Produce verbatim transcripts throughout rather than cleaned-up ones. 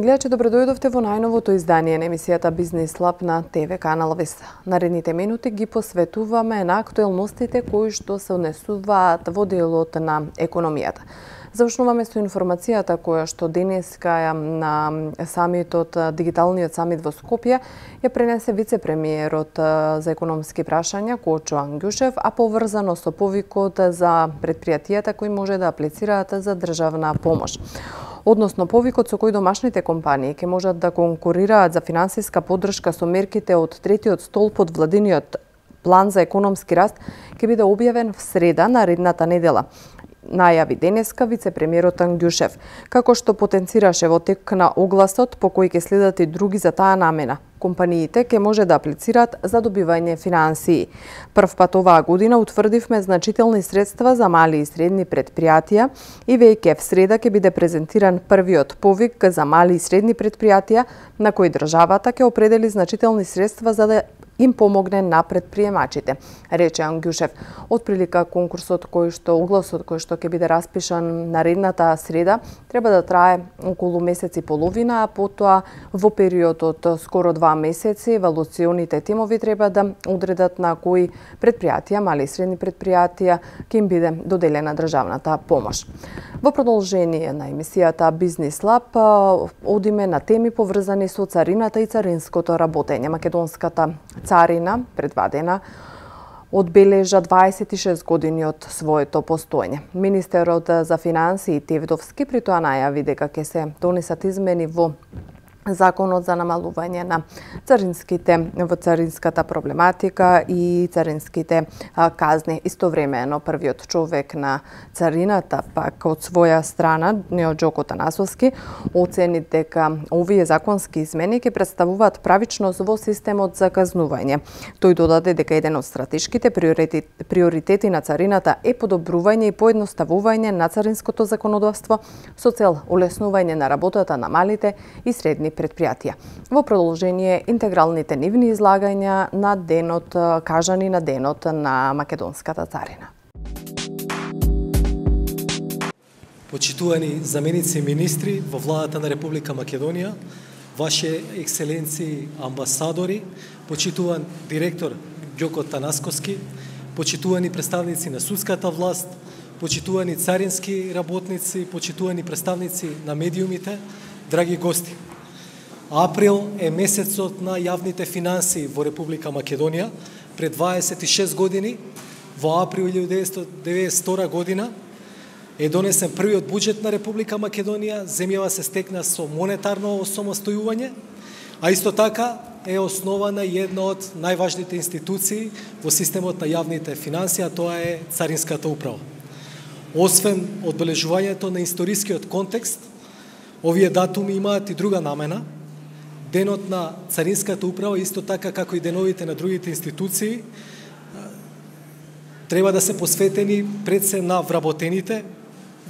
гледачи, добродојдовте во најновото издание на емисијата Бизнис Лаб на ТВ канал Вест. Наредните минути ги посветуваме на актуелностите кои што се однесуваат во делот на економијата. Завршуваме со информацијата која што денеска на самитот, дигиталниот самит во Скопје, ја пренесе вице-премиерот за економски прашања Кочо Ангјушев, а поврзано со повикот за предпријатијата кои може да аплицираат за државна помош. Односно повикот со кој домашните компании ќе можат да конкурираат за финансиска поддршка со мерките од третиот столб од владиниот план за економски раст ќе биде објавен в среда наредната недела, најави денеска вице-премиерот Ангјушев, како што потенцираше во тек на огласот по кој ќе следат и други за таа намена. Компаниите ќе може да аплицираат за добивање финансии. Прв пат оваа година утврдивме значителни средства за мали и средни предпријатија и веќе в среда ќе биде презентиран првиот повик за мали и средни предпријатија на кој државата ќе определи значителни средства за да им помогне на предприемачите, рече Ангјушев. Отприлика конкурсот кој што огласот кој што ќе биде распишан наредната среда треба да трае околу месец и половина, а потоа во период од скоро два месеци евалуционите тимови треба да одредат на кои предпријатија, мали и средни предпријатија ќе им биде доделена државната помош. Во продолжение на емисијата Бизнис Лаб одиме на теми поврзани со царината и царинското работење. Македонската царина, предвадена, одбележа дваесет и шест години од своето постоење. Министерот за финансии Тевдовски при тоа најави дека ќе се донесат измени во Законот за намалување на царинските во царинската проблематика и царинските а, казни. Истовремено првиот човек на царината пак од своја страна, Неоџоко Танасовски, оцени дека овие законски измени ќе представуваат правичност во системот за казнување. Тој додаде дека еден од стратешките приоритети, приоритети на царината е подобрување и поедноставување на царинското законодавство со цел олеснување на работата на малите и средни предпријатија. Во продолжение интегралните нивни излагања на денот, кажани на денот на Македонската царина. Почитувани заменици и министри во владата на Република Македонија, Ваше екселенции амбасадори, почитуван директор Ѓоко Танасковски, почитувани представници на судската власт, почитувани царински работници, почитувани представници на медиумите, драги гости. Април е месецот на јавните финансии во Република Македонија. Пред дваесет и шест години, во април илјадесетстотини деветдесет и втора година, е донесен првиот буџет на Република Македонија. Земјава се стекна со монетарно осамостојување, а исто така е основана една од најважните институции во системот на јавните финансии, а тоа е Царинската управа. Освен одбележувањето на историскиот контекст, овие датуми имаат и друга намена. Денот на Царинската управа, исто така како и деновите на другите институции, треба да се посветени пред се на вработените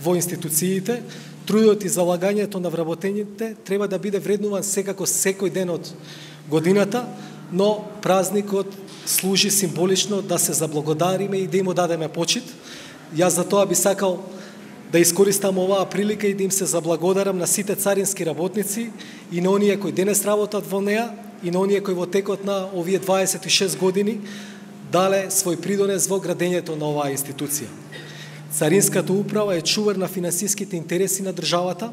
во институциите. Трудот и залагањето на вработените треба да биде вреднуван секако секој ден од годината, но празникот служи символично да се заблагодариме и да им дадеме почит. Јас за тоа би сакал да искористам оваа прилика и да им се заблагодарам на сите царински работници и на оние кои денес работат во неа и на оние кои во текот на овие дваесет и шест години дале свој придонес во градењето на оваа институција. Царинската управа е чувар на финансиските интереси на државата.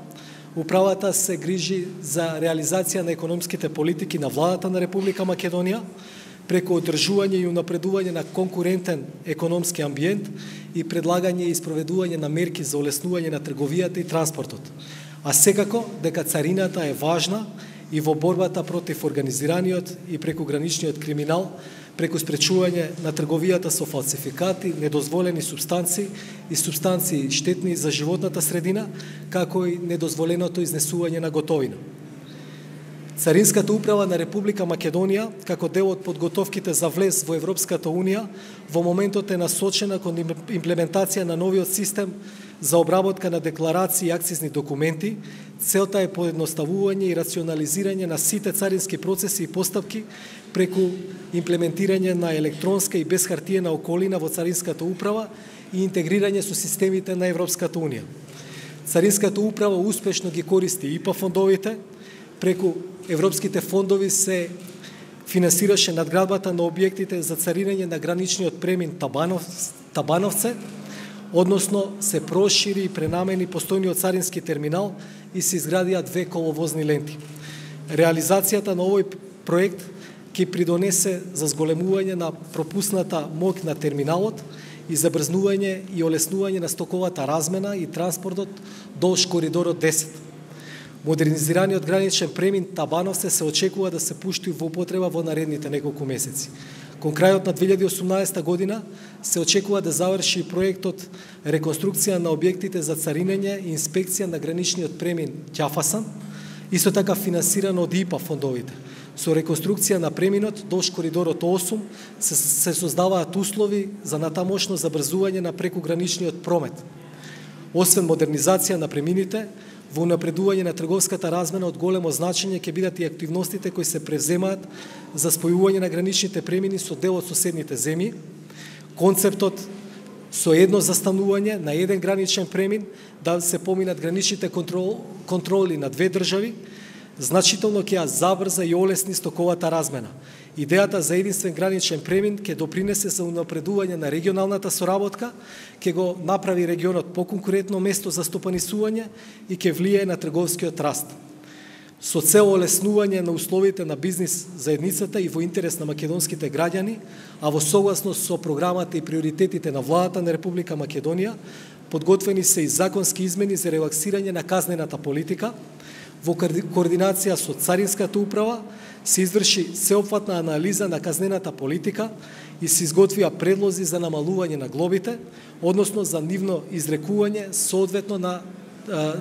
Управата се грижи за реализација на економските политики на владата на Република Македонија, преку одржување и унапредување на конкурентен економски амбиент и предлагање и спроведување на мерки за олеснување на трговијата и транспортот. А секако дека царината е важна и во борбата против организираниот и прекуграничниот криминал, преку спречување на трговијата со фалсификати, недозволени субстанции и субстанции штетни за животната средина, како и недозволеното изнесување на готовина. Царинската управа на Република Македонија, како дел од подготовките за влез во Европската Унија, во моментот е насочена кон имплементација на новиот систем за обработка на декларации и акцизни документи. Целта е поедноставување и рационализирање на сите царински процеси и постапки преку имплементирање на електронска и безхартиена околина во Царинската управа и интегрирање со системите на Европската Унија. Царинската управа успешно ги користи И П А фондовите, преку европските фондови се финансираше надградбата на објектите за царирење на граничниот премин Табанов, Табановце, односно се прошири и пренамени постојниот царински терминал и се изградија две коловозни ленти. Реализацијата на овој проект ќе придонесе за зголемување на пропусната моќ на терминалот и забрзнување и олеснување на стоковата размена и транспортот долж коридорот десет. Модернизираниот граничен премин Табановце се очекува да се пушти во употреба во наредните неколку месеци. Кон крајот на две илјади и осумнаесета година се очекува да заврши проектот реконструкција на објектите за царинење и инспекција на граничниот премин Ќафасан, исто така финансирано од И П А фондовите. Со реконструкција на преминот долж коридорот осум се, се создаваат услови за натамошно забрзување на прекуграничниот промет. Освен модернизација на премините, во унапредување на трговската размена од големо значење ќе бидат и активностите кои се превземаат за спојување на граничните премини со дел од соседните земји. Концептот со едно застанување на еден граничен премин да се поминат граничните контрол, контроли на две држави, значително ќе ја забрза и олесни стоковата размена. Идејата за единствен граничен премин ќе допринесе за унапредување на регионалната соработка, ќе го направи регионот поконкурентно место за стопанисување и ќе влијае на трговскиот раст. Со цел олеснување на условите на бизнис заедницата и во интерес на македонските граѓани, а во согласност со програмата и приоритетите на владата на Република Македонија, подготвени се и законски измени за релаксирање на казнената политика. Во координација со Царинската управа се изврши сеопфатна анализа на казнената политика и се изготвија предлози за намалување на глобите, односно за нивно изрекување соодветно на,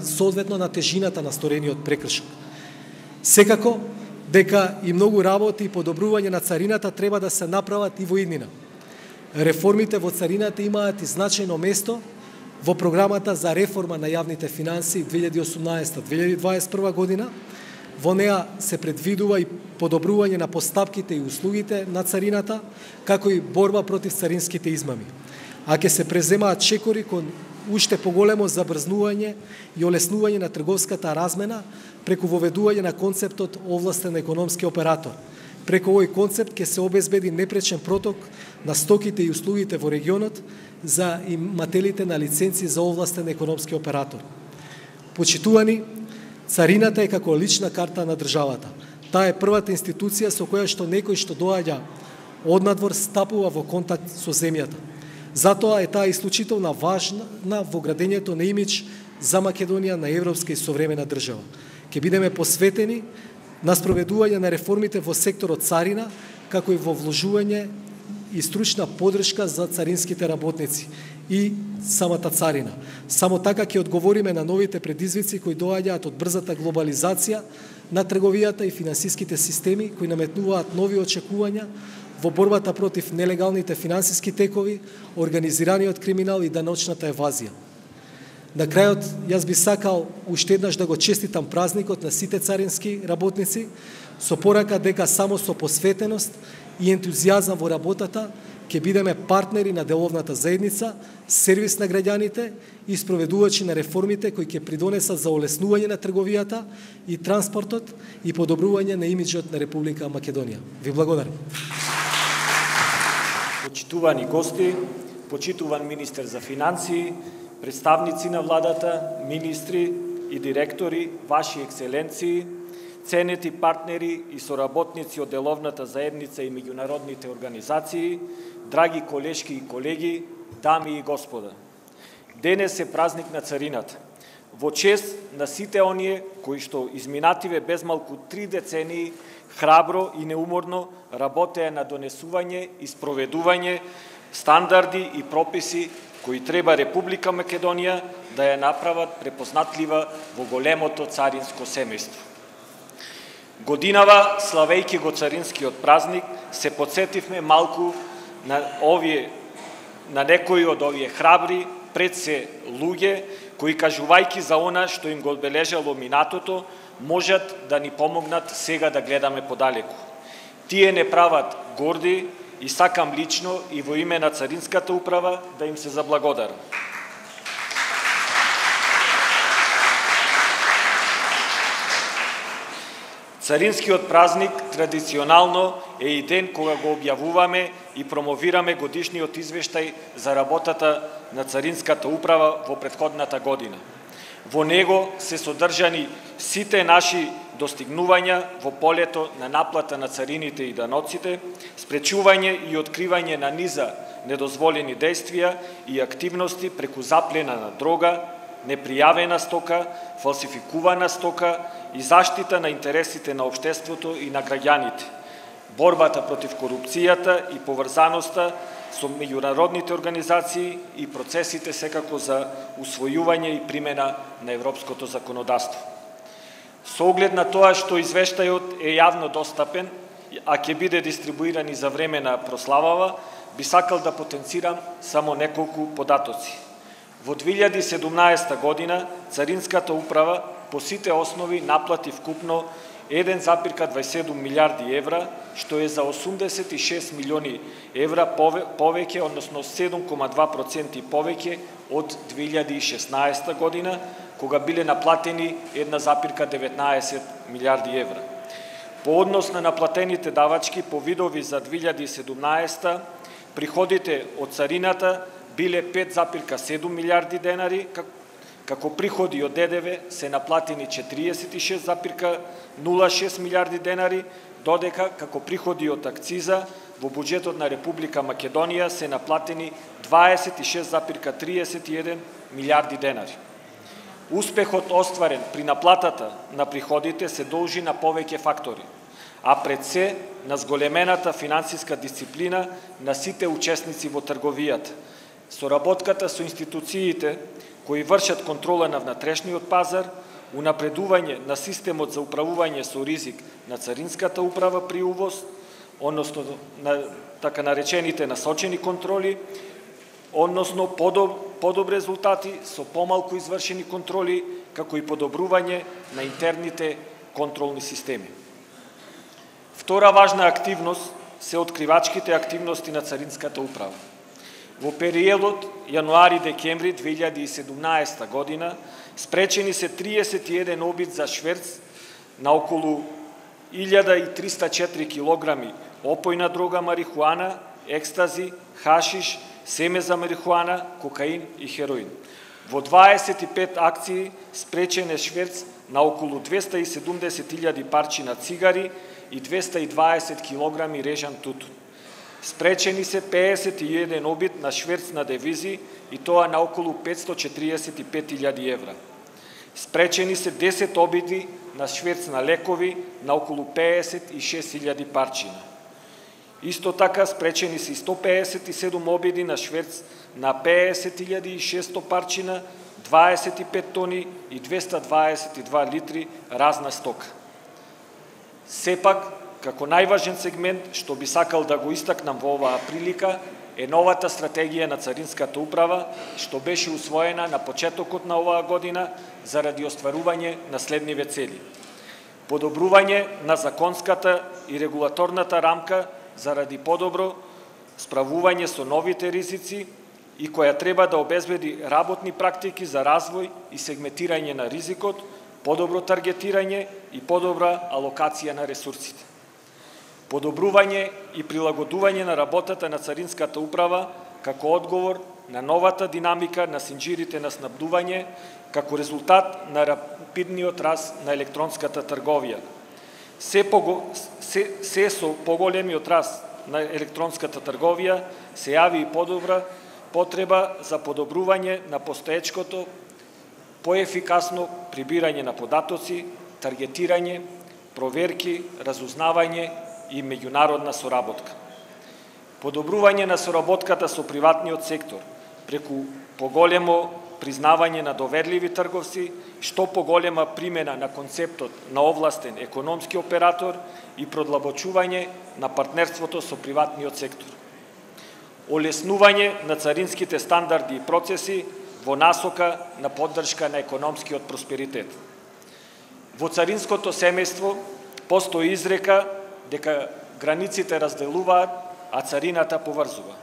соодветно на тежината на сторениот прекршок. Секако, дека и многу работи и подобрување на царината треба да се направат и во иднина. Реформите во царината имаат и значајно место во програмата за реформа на јавните финансии две илјади и осумнаесета до две илјади и дваесет и прва година. Во неа се предвидува и подобрување на постапките и услугите на царината, како и борба против царинските измами. А ќе се преземаат чекори кон уште поголемо забрзнување и олеснување на трговската размена преку воведување на концептот овластен економски оператор. Преку овој концепт ќе се обезбеди непречен проток на стоките и услугите во регионот за имателите на лиценци за овластен економски оператор. Почитувани, царината е како лична карта на државата. Таа е првата институција со која што некој што доаѓа однадвор стапува во контакт со земјата. Затоа е таа исклучително важна во градењето на имидж за Македонија на европска и современа држава. Ќе бидеме посветени на спроведување на реформите во секторот царина, како и во вложување и стручна подршка за царинските работници и самата царина. Само така ќе одговориме на новите предизвици кои доаѓаат од брзата глобализација на трговијата и финансиските системи кои наметнуваат нови очекувања во борбата против нелегалните финансиски текови, организираниот криминал и даночната евазија. На крајот, јас би сакал уште еднаш да го честитам празникот на сите царински работници, со порака дека само со посветеност и ентузијазам во работата ќе бидеме партнери на деловната заедница, сервис на граѓаните и спроведувачи на реформите кои ќе придонесат за олеснување на трговијата и транспортот и подобрување на имиджот на Република Македонија. Ви благодарам. Почитувани гости, почитуван министер за финансии, представници на владата, министри и директори, ваши екселенции, ценети партнери и соработници од деловната заедница и меѓународните организации, драги колешки и колеги, дами и господа. Денес е празник на царината. Во чест на сите оние кои што изминативе безмалку три децении храбро и неуморно работеа на донесување и спроведување стандарди и прописи кои треба Република Македонија да ја направат препознатлива во големото царинско семејство. Годинава, славејќи го царинскиот празник, се подсетивме малку на овие, на некои од овие храбри, пред се луѓе, кои кажувајќи за она што им го одбележало минатото, можат да ни помогнат сега да гледаме подалеку. Тие не прават горди и сакам лично и во име на Царинската управа да им се заблагодарам. Царинскиот празник традиционално е и ден кога го објавуваме и промовираме годишниот извештај за работата на Царинската управа во претходната година. Во него се содржани сите наши достигнувања во полето на наплата на царините и даноците, спречување и откривање на низа недозволени действија и активности преку заплена на дрога, непријавена стока, фалсификувана стока и заштита на интересите на општеството и на граѓаните, борбата против корупцијата и поврзаноста со меѓународните организации и процесите секако за усвојување и примена на европското законодавство. Со оглед на тоа што извештајот е јавно достапен, а ќе биде дистрибуиран и за време на прославава, би сакал да потенцирам само неколку податоци. Во две илјади и седумнаесета година Царинската управа по сите основи наплати вкупно еден запир дваесет и седум милиарди евра, што е за осумдесет и шест милиони евра повеќе, односно седум кoma два проценти повеќе од две илјади и шеснаесета година, кога биле наплатени една запирка деветнаесет милиарди евра. По однос на наплатените давачки по видови за две илјади и седумнаесета, приходите од царината биле пет запирка седум милиарди денари, како приходи од ДДВ се наплатени четириесет и шест запирка нула шест милиарди денари, додека како приходи од акциза во буџетот на Република Македонија се наплатени дваесет и шест запирка триесет и еден милиарди денари. Успехот остварен при наплатата на приходите се должи на повеќе фактори, а пред се на зголемената финансиска дисциплина на сите учесници во трговијата, соработката со институциите кои вршат контрола на внатрешниот пазар, унапредување на системот за управување со ризик на Царинската управа при увоз, односно на така наречените насочени контроли, односно подоб, подоб резултати со помалку извршени контроли, како и подобрување на интерните контролни системи. Втора важна активност се откривачките активности на Царинската управа. Во периодот јануари-декември две илјади и седумнаесета година спречени се триесет и еден обид за шверц на околу илјада и триста и четири килограми опојна дрога марихуана, екстази, хашиш, семе за марихуана, кокаин и хероин. Во дваесет и пет акции спречен е шверц на околу двеста и седумдесет илјади парчина цигари и двеста и дваесет килограми режан тутун. Спречени се пеесет и еден обид на шверц на девизи и тоа на околу петстотини и четириесет и пет илјади евра. Спречени се десет обиди на шверц на лекови на околу пеесет и шест илјади парчина. Исто така спречени се сто пеесет и седум обиди на шверц на пеесет илјади и шестsto парчина, дваесет и пет тони и двеста дваесет и два литри разна стока. Сепак, како најважен сегмент што би сакал да го истакнам во оваа прилика е новата стратегија на Царинската управа, што беше усвоена на почетокот на оваа година заради остварување на следниве цели: подобрување на законската и регулаторната рамка заради подобро справување со новите ризици и која треба да обезбеди работни практики за развој и сегментирање на ризикот, подобро таргетирање и подобра алокација на ресурсите. Подобрување и прилагодување на работата на Царинската управа како одговор на новата динамика на синџирите на снабдување, како резултат на рапидниот раст на електронската трговија. Се, пого, се, се со поголемиот раст на електронската трговија се јави и подобра потреба за подобрување на постоечкото, поефикасно прибирање на податоци, таргетирање, проверки, разузнавање и меѓународна соработка. Подобрување на соработката со приватниот сектор преку поголемо признавање на доверливи трговци, што поголема примена на концептот на овластен економски оператор и продлабочување на партнерството со приватниот сектор. Олеснување на царинските стандарди и процеси во насока на поддршка на економскиот просперитет. Во царинското семејство постои изрека дека границите разделуваат, а царината поврзува.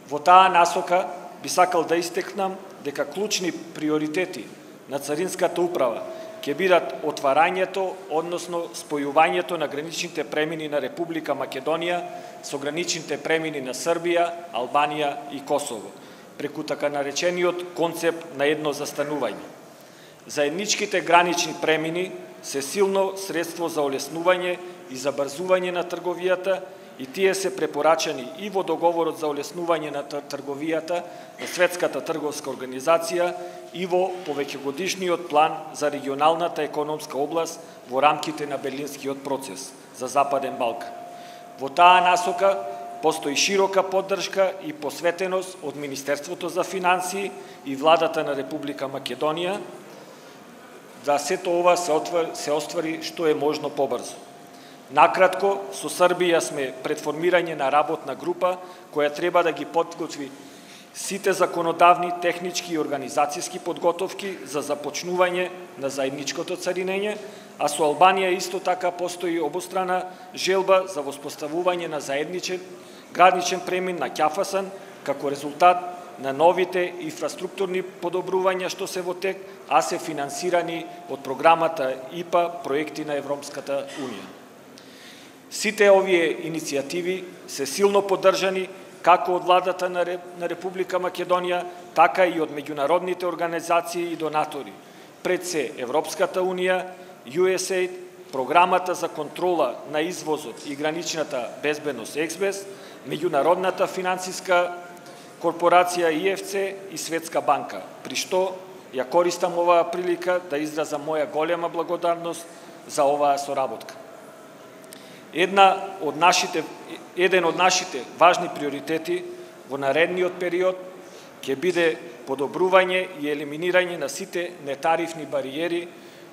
Во таа насока би сакал да истекнам дека клучни приоритети на Царинската управа ќе бидат отварањето, односно спојувањето на граничните премини на Република Македонија со граничните премини на Србија, Албанија и Косово, преку така наречениот концепт на едно застанување. Заедничките гранични премини се силно средство за олеснување и забрзување на трговијата и тие се препорачани и во договорот за олеснување на трговијата на Светската трговска организација и во повеќегодишниот план за регионалната економска област во рамките на Берлинскиот процес за Западен Балкан. Во таа насока постои широка поддршка и посветеност од Министерството за финансии и Владата на Република Македонија да сето ова се, отвар, се оствари што е можно побрзо. Накратко, со Србија сме пред формирање на работна група која треба да ги подготви сите законодавни, технички и организацијски подготовки за започнување на заедничкото царинење, а со Албанија исто така постои обострана желба за воспоставување на заедничен граничен премин на Ќафасан како резултат на новите инфраструктурни подобрувања што се во тек, а се финансирани од програмата И П А проекти на Европската Унија. Сите овие иницијативи се силно поддржани како од владата на Република Македонија, така и од меѓународните организации и донатори, пред се Европската Унија, Ю Ес Ей Ди, програмата за контрола на извозот и граничната безбедност Ексбес, меѓународната финансиска корпорација И Ф Це и Светска банка, при што ја користам оваа прилика да изразам моја голема благодарност за оваа соработка. Една од нашите, еден од нашите важни приоритети во наредниот период ќе биде подобрување и елиминирање на сите нетарифни бариери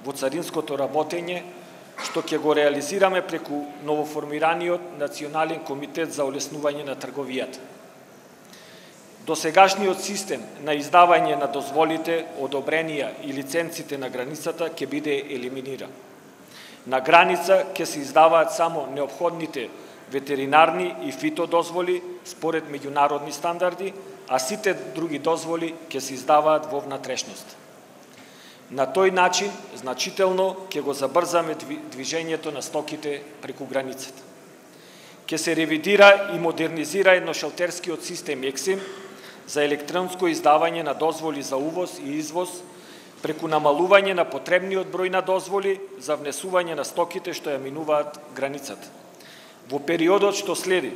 во царинското работење, што ќе го реализираме преку новоформираниот Национален комитет за олеснување на трговијата. Досегашниот систем на издавање на дозволите, одобренија и лиценците на границата ќе биде елиминиран. На граница ќе се издаваат само неопходните ветеринарни и фитодозволи според меѓународни стандарди, а сите други дозволи ќе се издаваат во внатрешност. На тој начин значително ќе го забрзаме движењето на стоките преку границата. Ќе се ревидира и модернизира едношелтерскиот систем ЕКСИМ за електронско издавање на дозволи за увоз и извоз, преку намалување на потребниот број на дозволи за внесување на стоките што ја минуваат границата. Во периодот што следи,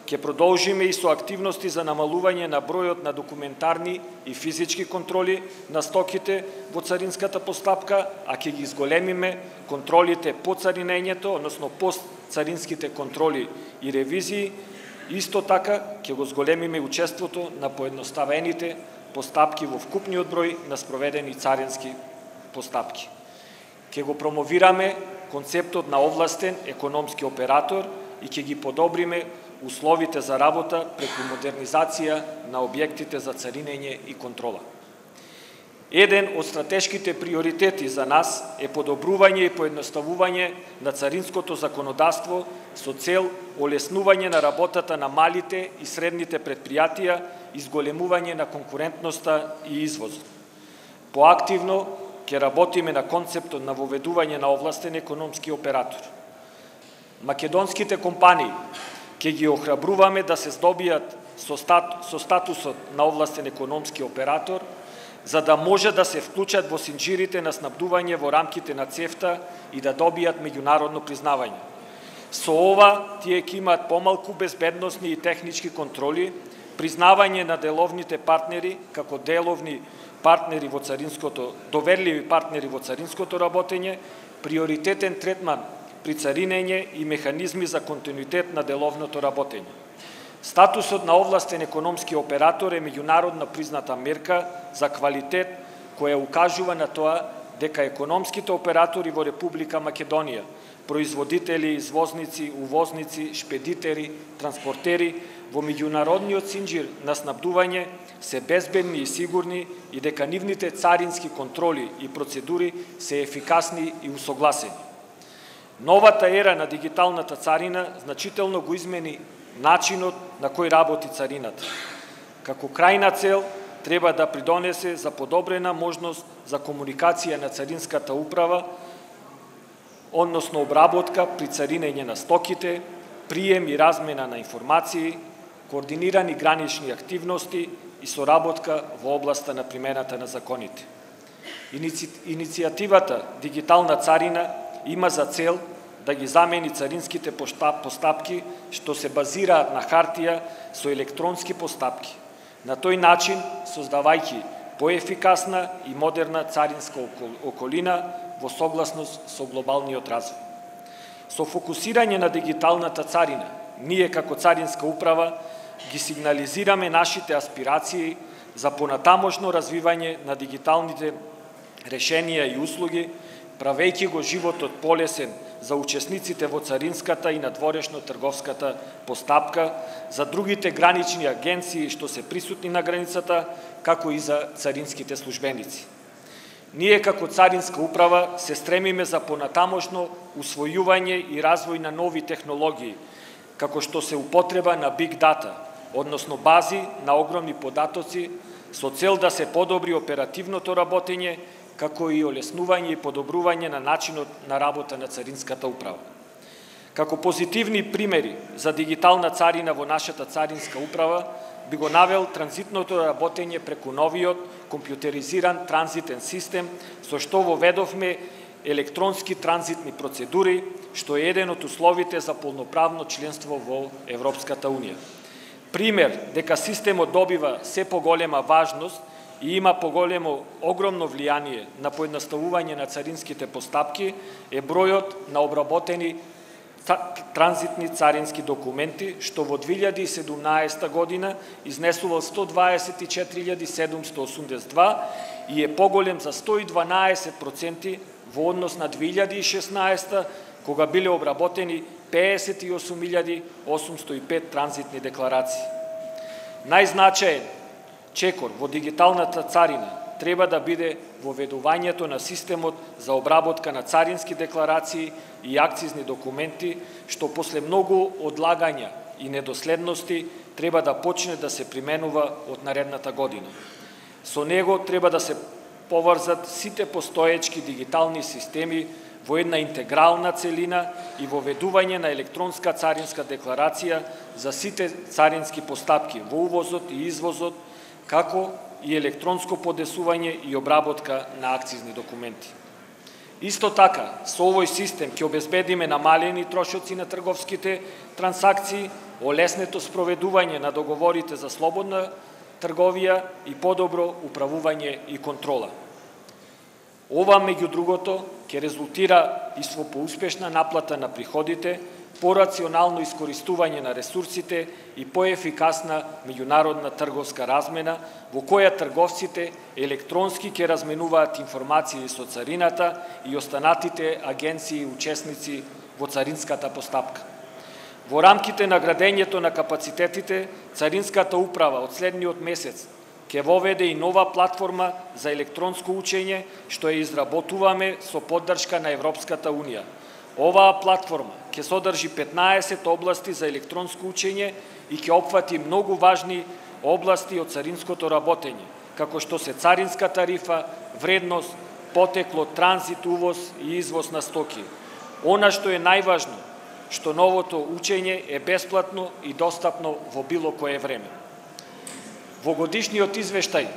ќе продолжиме и со активности за намалување на бројот на документарни и физички контроли на стоките во царинската постапка, а ќе ги изголемиме контролите по царинењето, односно постцаринските контроли и ревизии. Исто така ќе го зголемиме учеството на поедноставените постапки во вкупниот број на спроведени царински постапки. Ќе го промовираме концептот на овластен економски оператор и ќе ги подобриме условите за работа преку модернизација на објектите за царинење и контрола. Еден од стратешките приоритети за нас е подобрување и поедноставување на царинското законодавство со цел олеснување на работата на малите и средните предпријатија и зголемување на конкурентноста и извозот. Поактивно ќе работиме на концептот на воведување на овластен економски оператор. Македонските компании ќе ги охрабруваме да се здобијат со, стат, со статусот на овластен економски оператор, за да може да се вклучат во синџирите на снабдување во рамките на ЦЕФТА и да добијат меѓународно признавање. Со ова тие ќе имаат помалку безбедносни и технички контроли, признавање на деловните партнери како деловни партнери во царинското, доверливи партнери во царинското работење, приоритетен третман при царинење и механизми за континуитет на деловното работење. Статусот на овластен економски оператор е меѓународно призната мерка за квалитет која укажува на тоа дека економските оператори во Република Македонија, производители, извозници, увозници, шпедитери, транспортери во меѓународниот синџир на снабдување се безбедни и сигурни и дека нивните царински контроли и процедури се ефикасни и усогласени. Новата ера на дигиталната царина значително го измени начинот на кој работи царината. Како крајна цел, треба да придонесе за подобрена можност за комуникација на Царинската управа, односно обработка при царинење на стоките, прием и размена на информации, координирани гранични активности и соработка во областа на примената на законите. Иници... Иницијативата Дигитална царина има за цел да ги замени царинските постапки што се базираат на хартија со електронски постапки. На тој начин, создавајќи поефикасна и модерна царинска околина во согласност со глобалниот развој. Со фокусирање на дигиталната царина, ние како Царинска управа ги сигнализираме нашите аспирации за понатамошно развивање на дигиталните решенија и услуги, правејќи го животот полесен за учесниците во царинската и надворешно-трговската постапка, за другите гранични агенции што се присутни на границата, како и за царинските службеници. Ние како Царинска управа се стремиме за понатамошно усвојување и развој на нови технологии, како што се употреба на Big Data, односно бази на огромни податоци, со цел да се подобри оперативното работење, како и олеснување и подобрување на начинот на работа на Царинската управа. Како позитивни примери за дигитална царина во нашата Царинска управа би го навел транзитното работење преку новиот компјутеризиран транзитен систем, со што воведовме електронски транзитни процедури, што е еден од условите за полноправно членство во Европската унија. Пример дека системот добива се поголема важност и има поголемо огромно влијание на поедноставување на царинските постапки е бројот на обработени транзитни царински документи, што во две илјади и седумнаесета година изнесува сто дваесет и четири илјади седумстотини осумдесет и два и е поголем за сто и дванаесет проценти во однос на две илјади и шеснаесета, кога биле обработени педесет и осум илјади осумстотини и пет транзитни декларации. Најзначаен чекор во дигиталната царина треба да биде воведувањето на системот за обработка на царински декларации и акцизни документи, што после многу одлагања и недоследности треба да почне да се применува од наредната година. Со него треба да се поврзат сите постоечки дигитални системи во една интегрална целина и воведување на електронска царинска декларација за сите царински постапки во увозот и извозот, како и електронско подесување и обработка на акцизни документи. Исто така, со овој систем ќе обезбедиме намалени трошоци на трговските трансакции, олеснето спроведување на договорите за слободна трговија и подобро управување и контрола. Ова, меѓу другото, ќе резултира и со поуспешна наплата на приходите, порационално искористување на ресурсите и поефикасна меѓународна трговска размена, во која трговците електронски ќе разменуваат информации со царината и останатите агенции и учесници во царинската постапка. Во рамките на градењето на капацитетите, Царинската управа од следниот месец ќе воведе и нова платформа за електронско учење, што ја изработуваме со поддршка на Европската унија. Оваа платформа ќе содржи петнаесет области за електронско учење и ќе опфати многу важни области од царинското работење, како што се царинска тарифа, вредност, потекло, транзит, увоз и извоз на стоки. Она што е најважно, што новото учење е бесплатно и достапно во било кое време. Во годишниот извештај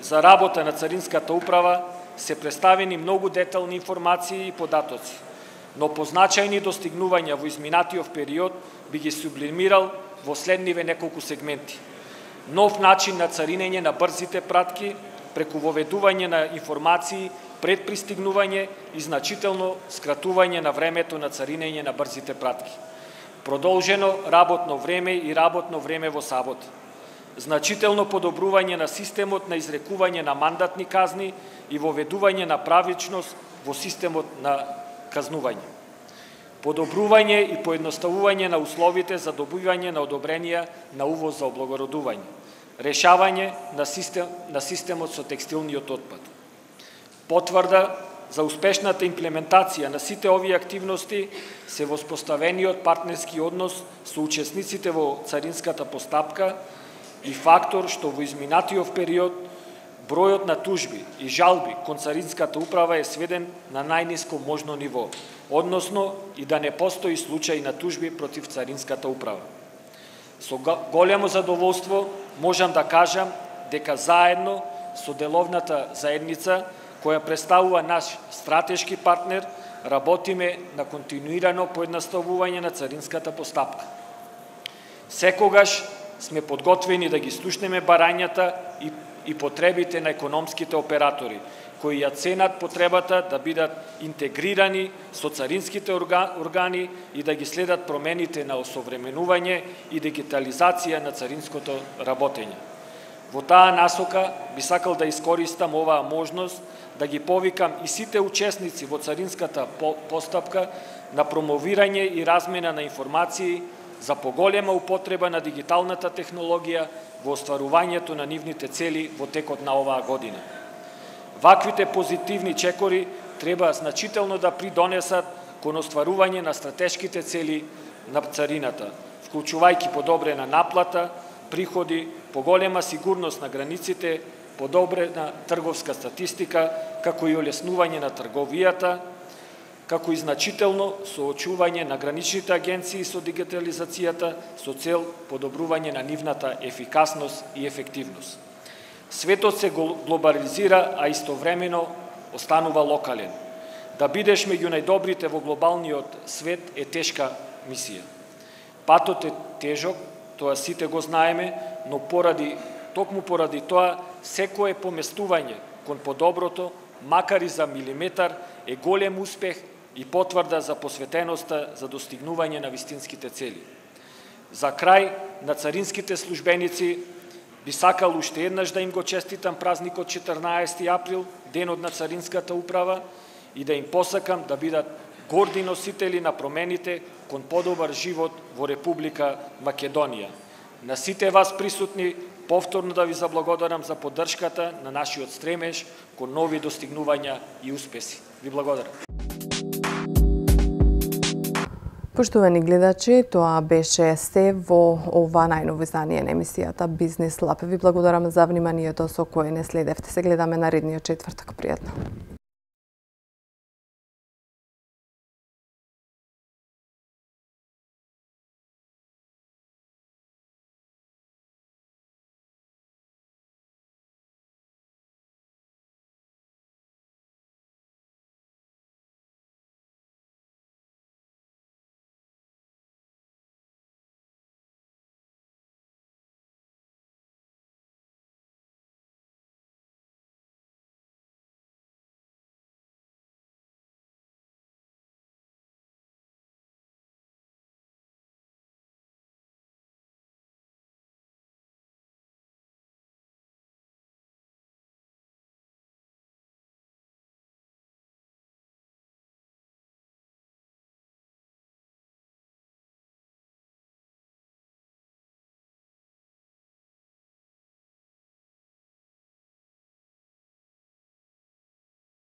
за работа на Царинската управа се представени многу детални информации и податоци, но позначајни достигнувања во изминатиот период би ги сублимирал во следниве неколку сегменти. Нов начин на царинење на брзите пратки преку воведување на информации пред пристигнување и значително скратување на времето на царинење на брзите пратки. Продолжено работно време и работно време во сабота. Значително подобрување на системот на изрекување на мандатни казни и воведување на правичност во системот на казнување. Подобрување и поедноставување на условите за добивање на одобренија на увоз за облагородување. Решавање на, систем, на системот со текстилниот отпад. Потврда за успешната имплементација на сите овие активности се воспоставениот партнерски однос со учесниците во царинската постапка и фактор што во изминатиот период бројот на тужби и жалби кон Царинската управа е сведен на најниско можно ниво, односно и да не постои случај на тужби против Царинската управа. Со големо задоволство можам да кажам дека заедно со деловната заедница, која представува наш стратешки партнер, работиме на континуирано поедноставување на царинската постапка. Секогаш сме подготвени да ги слушнеме барањата и, и потребите на економските оператори, кои ја ценат потребата да бидат интегрирани со царинските органи и да ги следат промените на осовременување и дигитализација на царинското работење. Во таа насока би сакал да искористам оваа можност да ги повикам и сите учесници во царинската постапка на промовирање и размена на информации за поголема употреба на дигиталната технологија во остварувањето на нивните цели во текот на оваа година. Ваквите позитивни чекори треба значително да придонесат кон остварување на стратешките цели на царината, вклучувајќи подобрена наплата, приходи, поголема сигурност на границите, подобрена трговска статистика, како и олеснување на трговијата, како и значително соочување на граничните агенции со дигитализацијата со цел подобрување на нивната ефикасност и ефективност. Светот се глобализира, а истовремено останува локален. Да бидеш меѓу најдобрите во глобалниот свет е тешка мисија. Патот е тежок, тоа сите го знаеме, но поради, токму поради тоа, секое поместување кон подоброто, макар и за милиметар, е голем успех и потврда за посветеноста за достигнување на вистинските цели. За крај, на царинските службеници би сакал уште еднаш да им го честитам празникот четрнаесети април, денот на Царинската управа, и да им посакам да бидат горди носители на промените кон подобар живот во Република Македонија. На сите вас присутни, повторно да ви заблагодарам за поддршката на нашиот стремеж кон нови достигнувања и успеси. Ви благодарам. Поштовани гледачи, тоа беше се во ова најново издание на емисијата Бизнис Лаб. Ви благодарам за вниманието со кое не следевте. Се гледаме наредниот четвртак. Пријатно.